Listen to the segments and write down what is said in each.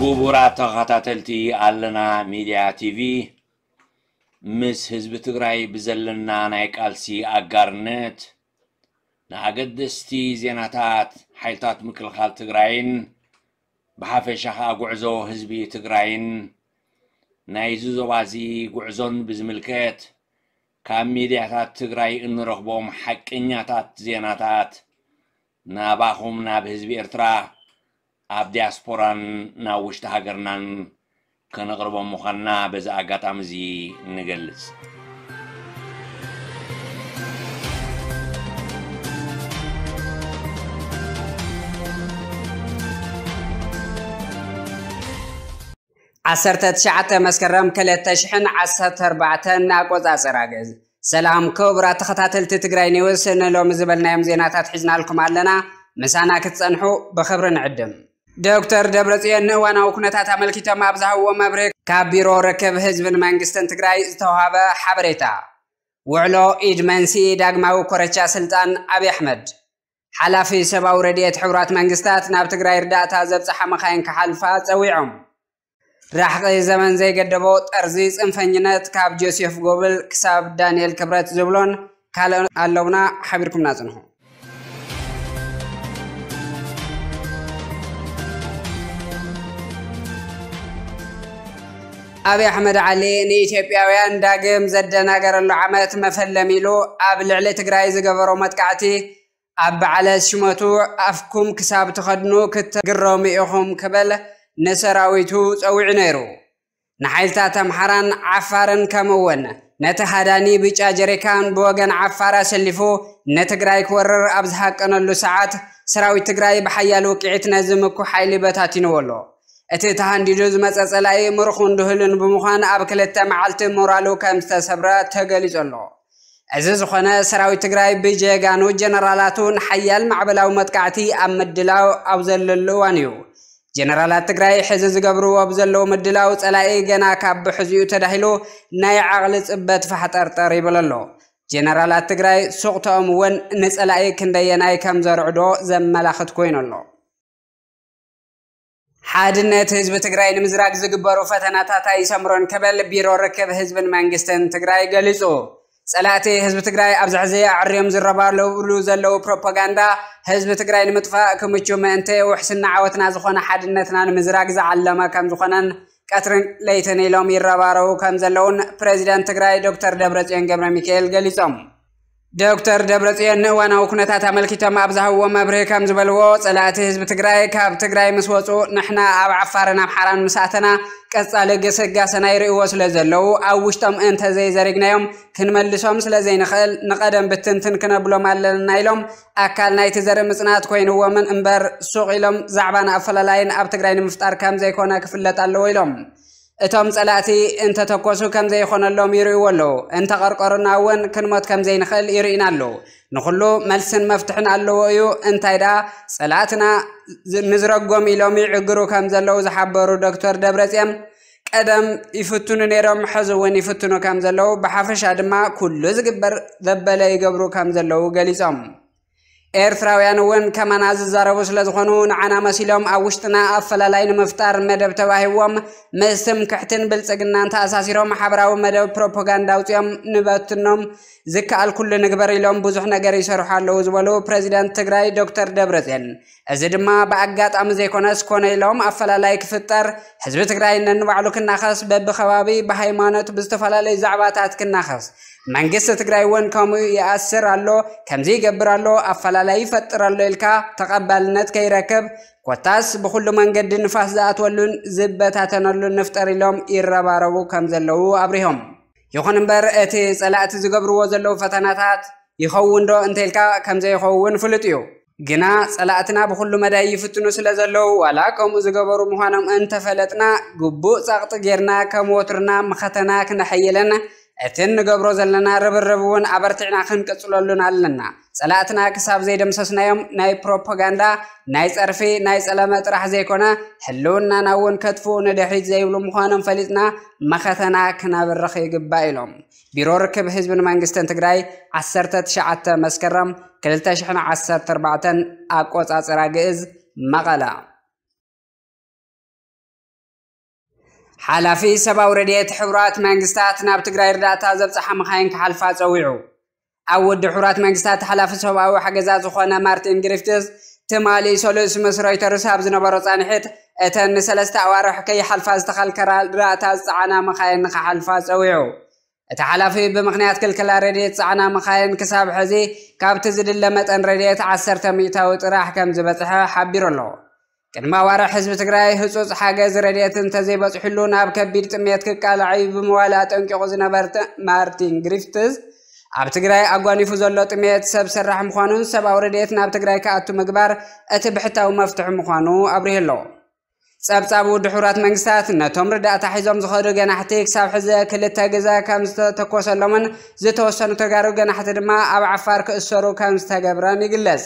ክቡራት ተኸታተልቲ ኣለና ሚድያ ቲቪ፣ ምስ ህዝቢ ትግራይ ብዘለና ናይ ቃልሲ ኣጋርነት ንኣገደስቲ ዜናታት ሓይልታት ምክልኻል ትግራይን ብሓፈሻ ኸኣ ጉዕዞ ህዝቢ ትግራይን ናይዚ ዞባዚ ጉዕዞን ብዝምልከት ካብ ሚድያታት ትግራይ እንረኽቦም ሓቀኛታት ዜናታት ናባኹም ናብ ህዝቢ ኤርትራ ኣብ ዲያስፖራን ናብ ውሽጢ ሃገርናን ከነቕርቦም ምዃንና በዚ ኣጋጣሚ እዚ ንገልጽ። ዓሰርተ ትሽዓተ መስከረም ክልተ ሽሕን ዓሰርተ ኣርባዕተን ኣቆጻጽራ ግእዝ። ሰላም ክቡራት ተኸታተልቲ ትግራይ ኒውስ፣ ንሎሚ ዝበልናዮም ዜናታት ሒዝናልኩም ኣለና። ምሳና ክትጸንሑ ብኽብሪ ንዕድም። ዶክተር ደብረጽዮን ንእዋናዊ ኩነታት ኣመልኪቶም ኣብ ዝሃብዎ መብርሂ ካብ ቢሮ ርክብ ህዝብን መንግስትን ትግራይ ዝተዋሃበ ሓበሬታ። ውዕሎ ኢድ መንስኢ ዳግማዊ ኮረቻ ስልጣን ኣብይ ኣሕመድ። ሓላፊ ሰብኣዊ ረድኤት ሕቡራት መንግስታት ናብ ትግራይ እርዳእታ ዘብጽሓ መኻይን ክሓልፋ ጸዊዖም። ራሕቒ ዘመን ዘይገደቦ ጠርዚ ጽንፈኝነት ካብ ጆሴፍ ጎብል ክሳብ ዳንኤል ክብረት ዝብሎን ካልኦን ኣለውና፣ ሓቢርኩምና ጽንሑ። ኣብይ ኣሕመድ ዓሊ ንኢትዮጵያውያን ዳግም ዘደናገረሉ ዓመት መፈለሚ ኢሉ ኣብ ልዕሊ ትግራይ ዝገበሮ መጥቃዕቲ ኣብ በዓለ ሽመቱ ኣፍኩም ክሳብ ትኸድኑ ክትግረሙ ኢኹም ክብል ንሰራዊቱ ጸዊዑ ነይሩ። ንሓይልታት ኣምሓራን ዓፋርን ከምኡ እውን ነቲ ሃዳኒ ብጫ ጀሪካን ብወገን ዓፋር ኣሰሊፉ ንትግራይ ክወርር ኣብ ዝሃቀነሉ ሰዓት ሰራዊት ትግራይ ብሓያል ውቅዒት ነዚ ምኩ ሓይሊ በታቲንዎ ኣሎ። እቲ ተሃንዲዱ ዝመጸ ጸላኢ ምሩኹን ድህሉን ብምዃን ኣብ ክልተ መዓልቲ ሞራሉ ከም ዝተሰብረ ተገሊጹ ኣሎ። እዚ ዝኾነ ሰራዊት ትግራይ ብጀጋኑ ጀነራላቱ ንሓያል ማዕበላዊ መጥቃዕቲ ኣብ ምድላው ኣብ ዘለሉ እዋን እዩ። ጀነራላት ትግራይ ሕዚ ዝገብርዎ ብዘለዉ ምድላው ጸላኢ ገና ካብ ብሕዚኡ ተዳሂሉ ናይ ዓቕሊ ጽበት ፋሕጠርጠር ይብል ኣሎ። ጀነራላት ትግራይ ሱቕተኦም እውን ንጸላኢ ክንደየናይ ከም ዘርዕዶ ዘመላኽት ኮይኑ ኣሎ። ሓድነት ህዝቢ ትግራይ ንምዝራግ ዝግበሩ ፈተናታት ኣይሰምሮን ክብል ቢሮ ርክብ ህዝብን መንግስትን ትግራይ ገሊጹ። ጸላእቲ ህዝቢ ትግራይ ኣብዚ ሕዚ ኣዕርዮም ዝረባረብሉ ዘለዉ ፕሮፓጋንዳ ህዝቢ ትግራይ ንምጥፋእ ክምቹ ምእንቲ ውሕስና ዓወትና ዝኾነ ሓድነትና ንምዝራግ ዝዓለመ ከም ዝኾነን ቀትርን ለይትን ኢሎም ይረባረቡ ከም ዘለውን ፕሬዚደንት ትግራይ ዶክተር ደብረጽዮን ገብረ ሚካኤል ገሊጾም። ዶክተር ደብረጽዮን ንእዋናዊ ኩነታት ኣመልኪቶም ኣብ ዝሃብዎ መብርሂ ከም ዝበልዎ፣ ጸላእቲ ህዝቢ ትግራይ ካብ ትግራይ ምስ ወጹ ንሕና ኣብ ዓፋርን ኣምሓራን ምስ ኣተና ቀጻሊ ግስጋሰና ይርእይዎ ስለ ዘለዉ ኣብ ውሽጦም እንተዘይዘሪግናዮም ክንመልሶም ስለ ዘይንኽእል ንቐደም ብትንትን ክነብሎም ኣለና ኢሎም። ኣካል ናይቲ ዘርኢ ምጽናት ኮይንዎምን እምበር ሱቕ ኢሎም ዛዕባን ኣፈላላይን ኣብ ትግራይ ንምፍጣር ከም ዘይኮነ ክፍለጥ ኣለዎ ኢሎም። እቶም ጸላእቲ እንተተኮሱ ከም ዘይኾነሎም ይርእይዎ ኣለዉ። እንተቐርቀሩና እውን ክንሞት ከም ዘይንኽእል ይርእዩና ኣለዉ። ንኹሉ መልስን መፍትሕን ኣለዎ እዩ። እንታይ ደኣ ጸላእትና ዝ-፣ ንዝረጎም ኢሎም ይዕግሩ ከም ዘለዉ ዝሓበሩ ዶክተር ደብረጽዮን፣ ቀደም ይፍትኑ ነይሮም፣ ሕዚ እውን ይፍትኑ ከም ዘለዉ፣ ብሓፈሻ ድማ ኩሉ ዝግበር ዘበለ ይገብሩ ከም ዘለዉ ገሊጾም። ኤርትራውያን እውን ከማና ዝዛረቡ ስለ ዝኾኑ፣ ንዓና መሲሎም ኣብ ውሽጥና ኣፈላላይ ንምፍጣር መደብ ተዋሂብዎም፣ ምስ ትምክሕትን ብልጽግናን ተኣሳሲሮም ሓበራዊ መደብ ፕሮፓጋንዳ ኣውጺኦም ንበትኖም፣ ዝከኣል ኩሉ ንግበር ኢሎም ብዙሕ ነገር ይሰርሑ ኣለዉ ዝበሉ ፕሬዚደንት ትግራይ ዶክተር ደብረጽዮን፣ እዚ ድማ ብኣጋጣሚ ዘይኮነስ ኮነ ኢሎም ኣፈላላይ ክፍጠር፣ ህዝቢ ትግራይ ነንባዕሉ ክናኸስ፣ በብኸባቢ ብሃይማኖት ብዝተፈላለዩ ዛዕባታት ክናኸስ፣ መንግስቲ ትግራይ እውን ከምኡ ይኣስር ኣሎ፣ ከምዚ ይገብር ኣሎ፣ ኣፈላላይ ይፈጥር ኣሎ ኢልካ ተቐባልነት ከይረክብ፣ ኮታስ ብኹሉ መንገዲ ንፋስ ዝኣትወሉን ዝበታተነሉን ንፍጠር ኢሎም ይረባረቡ ከም ዘለዉ ኣብሪሆም። ይኹን እምበር እቲ ጸላእቲ ዝገብርዎ ዘለዉ ፈተናታት ይኸውን ዶ እንተኢልካ ከም ዘይኸውን ፍሉጥ እዩ። ግና ጸላእትና ብኹሉ መዳይ ይፍትኑ ስለ ዘለዉ ዋላ ከምኡ ዝገበሩ ምዃኖም እንተፈለጥና ግቡእ ጸቕጢ ጌርና ከም ወትሩና መኸተና ክነሐይልን እቲ እንገብሮ ዘለና ርብርብ እውን ኣበርቲዕና ክንቅጽለሉን ኣለና። ጸላእትና ክሳብ ዘይደምሰስናዮም ናይ ፕሮፓጋንዳ፣ ናይ ጸርፊ፣ ናይ ጸለመ ጥራሕ ዘይኮነ ህልውናና እውን ከጥፍኡ ንድሕሪት ዘይብሉ ምዃኖም ፈሊጥና መኸተና ክነብርኽ ይግባእ ኢሎም። ቢሮ ርክብ ህዝብን መንግስትን ትግራይ ዓሰርተ ትሽዓተ መስከረም ክልተ ሽሕን ዓሰርተ ኣርባዕተን ኣቆጻጽራ ግእዝ መቐለ። ሓላፊ ሰብኣዊ ረድኤት ሕቡራት መንግስታት ናብ ትግራይ እርዳእታ ዘብፅሓ መኻይን ክሓልፋ ፀዊዑ። ኣብ ውድብ ሕቡራት መንግስታት ሓላፊ ሰብኣዊ ሓገዛት ዝኾነ ማርቲን ግሪፍትስ፣ ትማሊ ሰሉስ ምስ ሮይተርስ ኣብ ዝነበሮ ፃንሒት፣ እተን ንሰለስተ ኣዋርሕ ከይሓልፋ ዝተኸልከላ እርዳእታ ዝፀዓና መኻይን ንኽሓልፋ ፀዊዑ። እቲ ሓላፊ፣ ብምኽንያት ክልከላ ረድኤት ዝፀዓና መኻይን ክሳብ ሕዚ ካብቲ ዝድለ መጠን ረድኤት ዓሰርተ ሚእታዊ ጥራሕ ከም ዝበፅሐ ሓቢሩ ኣሎ። ቅድሚ ኣዋርሕ ህዝቢ ትግራይ ህፁፅ ሓገዝ ረድኤት እንተዘይበፅሕሉ ናብ ከቢድ ጥሜት ክቃላዕ እዩ ብምባል ኣጠንቂቑ ዝነበረ ማርቲን ግሪፍትስ፣ ኣብ ትግራይ ኣጓኒፉ ዘሎ ጥሜት ሰብ ሰራሕ ምዃኑን ሰብኣዊ ረድኤት ናብ ትግራይ ክኣቱ ምግባር እቲ ብሕታዊ መፍትሒ ምዃኑ ኣብሪሁ ኣሎ። ጸብጻብ ውድብ ሕቡራት መንግስታት፣ ነቶም ርዳእታ ሒዞም ዝኸዱ ገናሕቲ ክሳብ ሕዚ ክልተ ግዘ ከም ዝተተኮሰሎምን ዝተወሰኑ ተጋሩ ገናሕቲ ድማ ኣብ ዓፋር ክእሰሩ ከም ዝተገብረን ይግለጽ።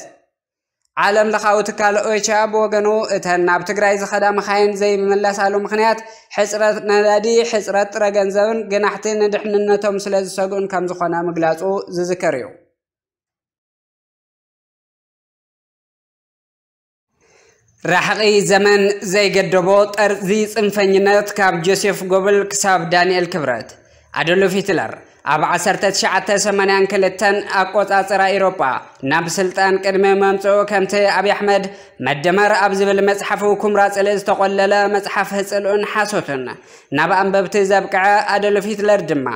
ዓለም ለኻዊ ትካል ኦቻ ብወገኑ፣ እተን ናብ ትግራይ ዝኸዳ መኻይን ዘይምለሳሉ ምኽንያት ሕፅረት ነዳዲ፣ ሕፅረት ጥረ ገንዘብን ገናሕቲ ንድሕንነቶም ስለ ዝሰግኡን ከም ዝኾነ ምግላጹ ዝዝከር እዩ። ራሕቒ ዘመን ዘይገደቦ ጠርዚ ጽንፈኝነት፣ ካብ ጆሴፍ ጎብል ክሳብ ዳንኤል ክብረት። ኣዶልፍ ሂትለር ኣብ ዓሰርተ ትሽዓተ ሰማንያን ክልተን ኣቆጻጽራ ኤውሮጳ ናብ ስልጣን ቅድሚ መምጽኡ፣ ከምቲ ኣብይ ኣሕመድ መደመር ኣብ ዝብል መጽሓፉ ኩምራ ጽልኢ ዝተቖለለ መጽሓፍ ህጽልኡን ሓሶትን ናብ ኣንበብቲ ዘብቅዐ ኣዶልፍ ሂትለር ድማ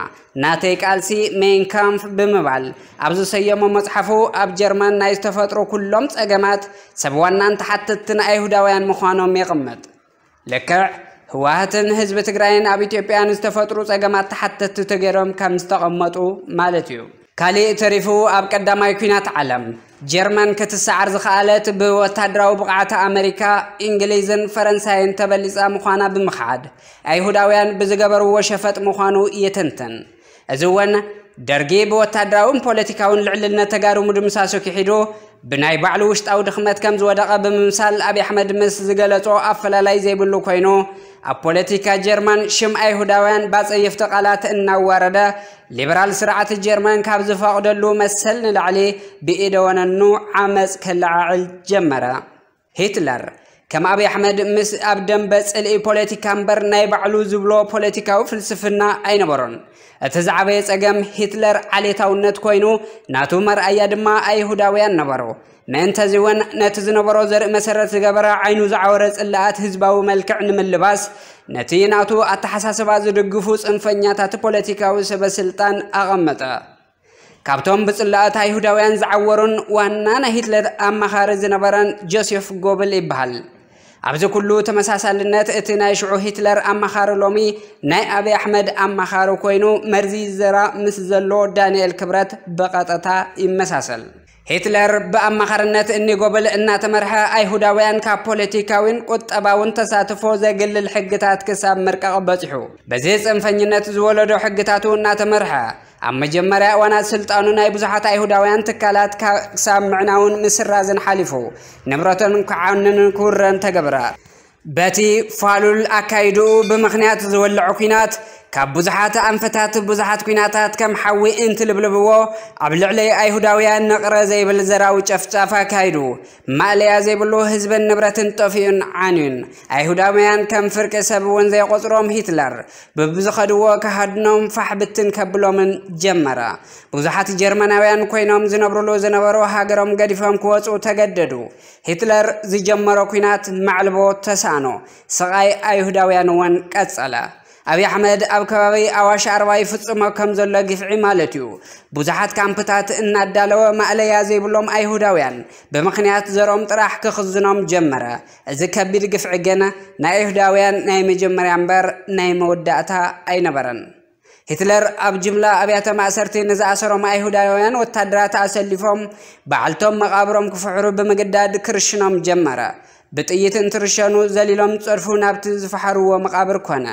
ናተይ ቃልሲ ሜይን ካምፍ ብምባል ኣብ ዝሰየሞ መጽሓፉ፣ ኣብ ጀርመን ናይ ዝተፈጥሩ ኩሎም ጸገማት ሰብ ዋናን ተሓተትትን ኣይሁዳውያን ምዃኖም የቕምጥ። ልክዕ ህወሓትን ህዝቢ ትግራይን ኣብ ኢትዮጵያ ንዝተፈጥሩ ጸገማት ተሓተትቲ ተገይሮም ከም ዝተቐመጡ ማለት እዩ። ካሊእ ተሪፉ፣ ኣብ ቀዳማይ ኲናት ዓለም ጀርመን ክትሰዓር ዝኸኣለት ብወታደራዊ ብቕዓት ኣመሪካ፣ እንግሊዝን ፈረንሳይን ተበሊጻ ምዃና ብምኽሓድ፣ ኣይሁዳውያን ብዝገበርዎ ሸፈጥ ምዃኑ ይትንትን። እዚ እውን ደርጊ ብወታደራውን ፖለቲካውን ልዕልነት ተጋሩ ምድምሳሱ ክሒዱ፣ ብናይ ባዕሉ ውሽጣዊ ድኽመት ከም ዝወደቐ ብምምሳል፣ ኣብይ ኣሕመድ ምስ ዝገለጾ ኣፈላላይ ዘይብሉ ኮይኑ፣ ኣብ ፖለቲካ ጀርመን ሽም ኣይሁዳውያን ብኣጸየፍቲ ቃላት እናዋረደ፣ ሊበራል ስርዓት ጀርመን ካብ ዝፈቕደሉ መሰል ንላዕሊ ብኢደ ወነኑ ዓመጽ ከለዓዕል ጀመረ። ሂትለር ከም ኣብይ ኣሕመድ ምስ ኣብ ደንበ ጽልኢ ፖለቲካ እምበር ናይ ባዕሉ ዝብሎ ፖለቲካዊ ፍልስፍና ኣይነበሮን። እቲ ዝዓበየ ጸገም ሂትለር ዓሌታውነት ኮይኑ፣ ናቱ መርኣያ ድማ ኣይሁዳውያን ነበሩ። ምእንተዚ እውን ነቲ ዝነበሮ ዘርኢ መሰረት ዝገበረ ዓይኑ ዝዓወረ ጽላኣት ህዝባዊ መልክዕ ንምልባስ፣ ነቲ ናቱ ኣተሓሳስባ ዝድግፉ ጽንፈኛታት ፖለቲካዊ ሰበ ስልጣን ኣቐመጠ። ካብቶም ብጽላኣት ኣይሁዳውያን ዝዓወሩን ዋና ናይ ሂትለር ኣማኻሪ ዝነበረን ጆሴፍ ጎብል ይበሃል። ኣብዚ ኩሉ ተመሳሳልነት፣ እቲ ናይ ሽዑ ሂትለር ኣማኻሪ ሎሚ ናይ ኣብይ ኣሕመድ ኣማኻሪ ኮይኑ፣ መርዚ ዘራ ምስ ዘሎ ዳንኤል ክብረት ብቐጥታ ይመሳሰል። ሂትለር ብኣማኻርነት እኒ ጎብል እናተመርሐ፣ ኣይሁዳውያን ካብ ፖለቲካዊን ቁጠባውን ተሳትፎ ዘግልል ሕግታት ክሳብ ምርቃቕ በጺሑ። በዚ ጽንፈኝነት ዝወለዶ ሕግታቱ እናተመርሐ፣ ኣብ መጀመርያ እዋናት ስልጣኑ ናይ ብዙሓት ኣይሁዳውያን ትካላት ካ-፣ ክሳብ ምዕናውን ምስራዝን ሓሊፉ፣ ንብረቶም ክዓንን ክውረን ተገብረ። በቲ ፋሉል ኣካይድኡ ብምኽንያት ዝወለዖ ኲናት፣ ካብ ብዙሓት ኣንፈታት ብዙሓት ኲናታት ከም ሓዊ እንትልብልብዎ፣ ኣብ ልዕሊ ኣይሁዳውያን ንቕረ ዘይብል ዘራዊ ጨፍጫፍ ኣካይዱ። ማእለያ ዘይብሉ ህዝብን ንብረትን ጠፊኡን ዓንዩን። ኣይሁዳውያን ከም ፍርቂ ሰብ እውን ዘይቆጽሮም ሂትለር፣ በብዝኸድዎ ክሃድኖም ፋሕ ብትን ከብሎምን ጀመረ። ብዙሓት ጀርመናውያን ኮይኖም ዝነብሩሉ ዝነበሩ ሃገሮም ገዲፎም ክወጹ ተገደዱ። ሂትለር ዝጀመሮ ኲናት ማዕልቦ ተሳእኖ። ስቓይ ኣይሁዳውያን እውን ቀጸለ። ኣብይ ኣሕመድ ኣብ ከባቢ ኣዋሽ ኣርባ ይፍጽሞ ከም ዘሎ ግፍዒ ማለት እዩ። ብዙሓት ካምፕታት እናዳለወ ማእለያ ዘይብሎም ኣይሁዳውያን ብምኽንያት ዘሮም ጥራሕ ክኽዝኖም ጀመረ። እዚ ከቢድ ግፍዒ ግን ናይ ኣይሁዳውያን ናይ መጀመርያ እምበር ናይ መወዳእታ ኣይነበረን። ሂትለር ኣብ ጅምላ ኣብያተ ማእሰርቲ ንዝኣሰሮም ኣይሁዳውያን ወታደራት ኣሰሊፎም፣ ባዕልቶም መቓብሮም ክፍሕሩ ብምግዳድ ክርሽኖም ጀመረ። ብጥይት እንትርሸኑ ዘሊሎም ጸድፉ ናብቲ ዝፈሓርዎ መቓብር ኮነ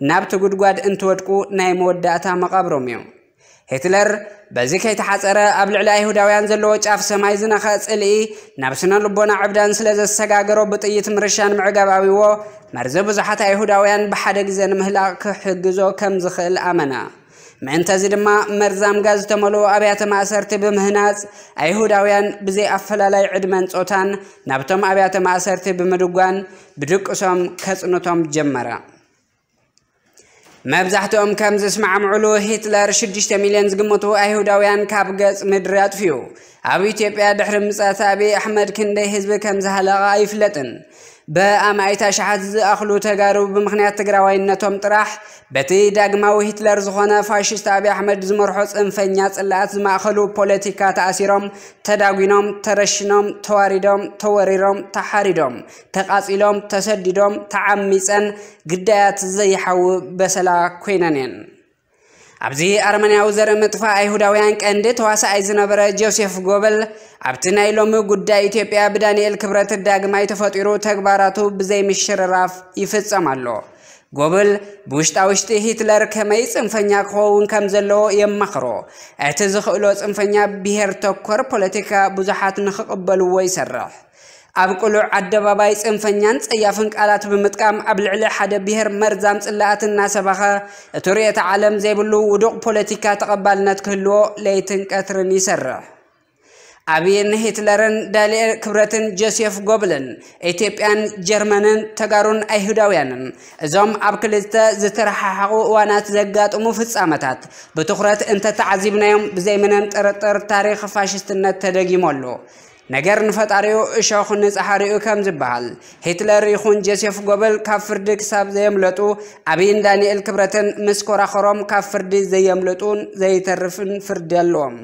ናብቲ ጉድጓድ እንትወድቁ ናይ መወዳእታ መቓብሮም እዩ። ሂትለር በዚ ከይተሓጸረ፣ ኣብ ልዕሊ ኣይሁዳውያን ዘለዎ ጫፍ ሰማይ ዝነኸ ጽልኢ ናብ ስነ ልቦና ዕብዳን ስለ ዘሰጋገሮ፣ ብጥይት ምርሻን ምዕጋብ ኣብይዎ፣ መርዚ ብዙሓት ኣይሁዳውያን ብሓደ ግዜ ንምህላቕ ክሕግዞ ከም ዝኽእል ኣመነ። ምእንተዚ ድማ፣ መርዛም ጋዝ ዝተመልኡ ኣብያተ ማእሰርቲ ብምህናጽ፣ ኣይሁዳውያን ብዘይ ኣፈላላይ ዕድመን ጾታን ናብቶም ኣብያተ ማእሰርቲ ብምድጓን፣ ብድቅሶም ከጽንቶም ጀመረ። መብዛሕትኦም ከም ዝስማዕምዑሉ፣ ሂትለር ሽዱሽተ ሚልዮን ዝግመቱ ኣይሁዳውያን ካብ ገጽ ምድሪ ኣጥፊኡ። ኣብ ኢትዮጵያ ድሕሪ ምጽኣት ኣቢይ ኣሕመድ ክንደይ ህዝቢ ከም ዝሃለቐ ኣይፍለጥን። ብኣማኢት ኣሽሓት ዝኣኽሉ ተጋሩ ብምኽንያት ትግራዋይነቶም ጥራሕ በቲ ዳግማዊ ሂትለር ዝኾነ ፋሽስት ኣቢይ ኣሕመድ ዝመርሖ ጽንፈኛ ጽልኣት ዝማእኸሉ ፖለቲካ ተኣሲሮም፣ ተዳጒኖም፣ ተረሽኖም፣ ተዋሪዶም፣ ተወሪሮም፣ ተሓሪዶም፣ ተቓጺሎም፣ ተሰዲዶም፣ ተዓሚጸን ግዳያት ዘይሓዊ በሰላ ኮይነን እየን። ኣብዚ ኣረመኔያዊ ዘርኢ ምጥፋእ ኣይሁዳውያን ቀንዲ ተዋሳኣይ ዝነበረ ጆሴፍ ጎበል፣ ኣብቲ ናይ ሎሚ ጉዳይ ኢትዮጵያ ብዳንኤል ክብረት ዳግማይ ተፈጢሩ ተግባራቱ ብዘይ ምሽርራፍ ይፍጸም ኣሎ። ጎበል ብውሽጣ ውሽጢ ሂትለር ከመይ ጽንፈኛ ክኸውን ከም ዘለዎ የማኽሮ። እቲ ዝኽእሎ ጽንፈኛ ብሄር ተኮር ፖለቲካ ብዙሓት ንኽቕበልዎ ይሰርሕ። ኣብ ቅሉዕ ኣደባባይ ጽንፈኛን ጸያፍን ቃላት ብምጥቃም ኣብ ልዕሊ ሓደ ብሄር መርዛም ጽላኣት እናሰበኸ፣ እቲ ርእየተ ዓለም ዘይብሉ ውዱቕ ፖለቲካ ተቐባልነት ክህልዎ ለይትን ቀትርን ይሰርሕ። ኣብይን ሂትለርን ዳንኤል ክብረትን ጆሴፍ ጎብልን ኢትዮጵያን ጀርመንን ተጋሩን ኣይሁዳውያንን፣ እዞም ኣብ ክልተ ዝተረሓሓቑ እዋናት ዘጋጥሙ ፍጻመታት ብትኹረት እንተተዓዚብናዮም፣ ብዘይ ምንም ጥርጥር ታሪኽ ፋሽስትነት ተደጊሙ ኣሎ። ነገር ንፈጣሪኡ እሾኽ ንጸሓሪኡ ከም ዝበሃል፣ ሂትለር ይኹን ጆሴፍ ጎበል ካብ ፍርዲ ክሳብ ዘየምለጡ፣ ኣብይን ዳንኤል ክብረትን ምስ ኮራኸሮም ካብ ፍርዲ ዘየምልጡን ዘይተርፍን ፍርዲ ኣለዎም።